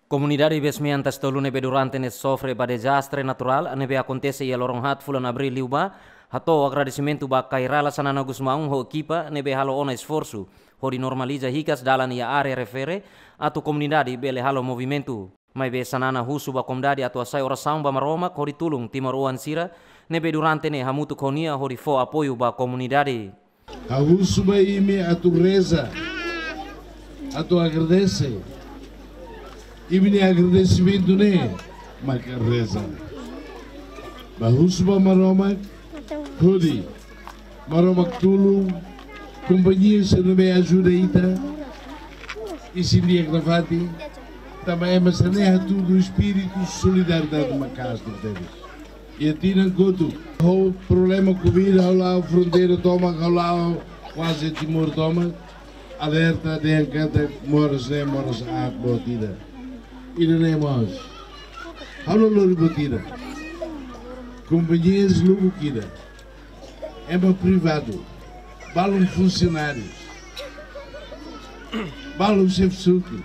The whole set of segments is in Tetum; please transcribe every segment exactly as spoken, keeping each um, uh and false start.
Komunidade Besmean Tasi Tolu ne'ebé durante ne'e sofre ba dezastre naturál ne'ebé akontese iha loron haat fulan Abríl liubá, hato'o agradesimentu ba Kay Rala Xanana Gusmão ho ekipa ne'ebé halo ona esforsu hodi normaliza hikas dalan iha área refere, atu komunidade bele halo movimentu. Maibé Xanana husu ba komunidade atu hasai orasaun ba Maromak hodi tulun timoroan sira ne'ebé durante ne'e hamutuk ho nia hodi fó apoiu ba komunidade. Ha'u husu ba imi atu reza, atu agradese. Imi-nia agradesimentu ne'e maka reza. Bá husu ba Maromak hodi Maromak tulun kompañia sira ne'ebé ajuda ita isin di'ak nafatin, tanba ema sira-ne'e hatudu espíritu solidariedade maka'as tebes. Iha tinan kotuk, ho problema Covid, ha'u la'o fronteira tomak, ha'u la'o kuaze Timor tomak, alerta dehan katak moras ne'e moras aat boot ida. Ida-ne'e mós, ha'u la lori boot ida. Kompañia lubuk ida. Ema privadu, balun funsionáriu, balun xefe suku.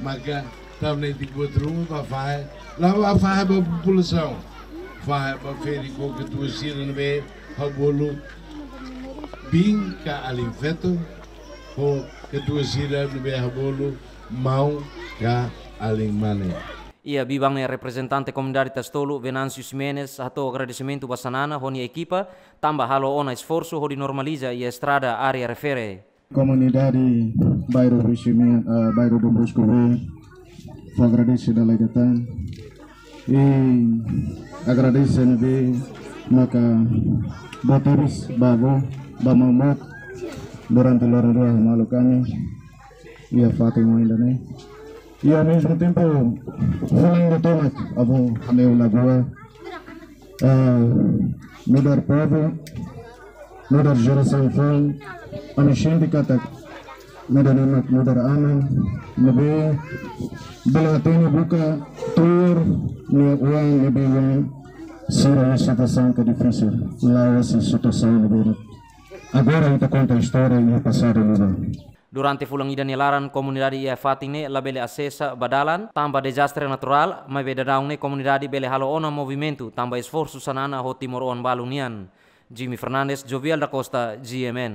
Maka tau netik buat ruma ba fahe, la ba fahe ba populasaun. Fahe ba feri ho katuas sira ne'ebé ha'u bolu biin ka alin feto, ho katuas sira ne'ebé ha'u bolu maun ka alin mane. Iha biban ne'e reprezentante komunidade Tasi Tolu, Venâncio Ximenes, hato'o agradesimentu ba Xanana ho nia ekipa, tanba halo ona esforsu hodi normaliza iha estrada área refere. Komunidade bairru Rui Ximenes, ah, bairru Dom Bosco B, fó agradese dala ida tan. I agradese ne'ebé maka boot tebes ba avó, ba maun boot, durante loron rua malu kami iha fatin oin ida-ne'e. I ao mesmo tempo, fulan ida tomak avó hanehan lagoa, ah, nu'udar povu, nu'udar jerasaun foun, ami sente katak nu'udar ne'e mak nu'udar aman ne'ebé bele hatene buka tuur nia oan ne'ebé oan sira iha situasaun ke difisil, la'ós iha situasaun ne'ebé agora ita konta istória iha pasadu liubá. Durante fulan ida nia laran, komunidade iha fatin ne'e labele asesa ba dalan tanba dezastre naturál, maibé daudaun ne'e komunidade bele halo ona movimentu tanba esforsu Xanana ho timoroan balun nian. Jimmy Fernandes, Jovial da Costa, G M N.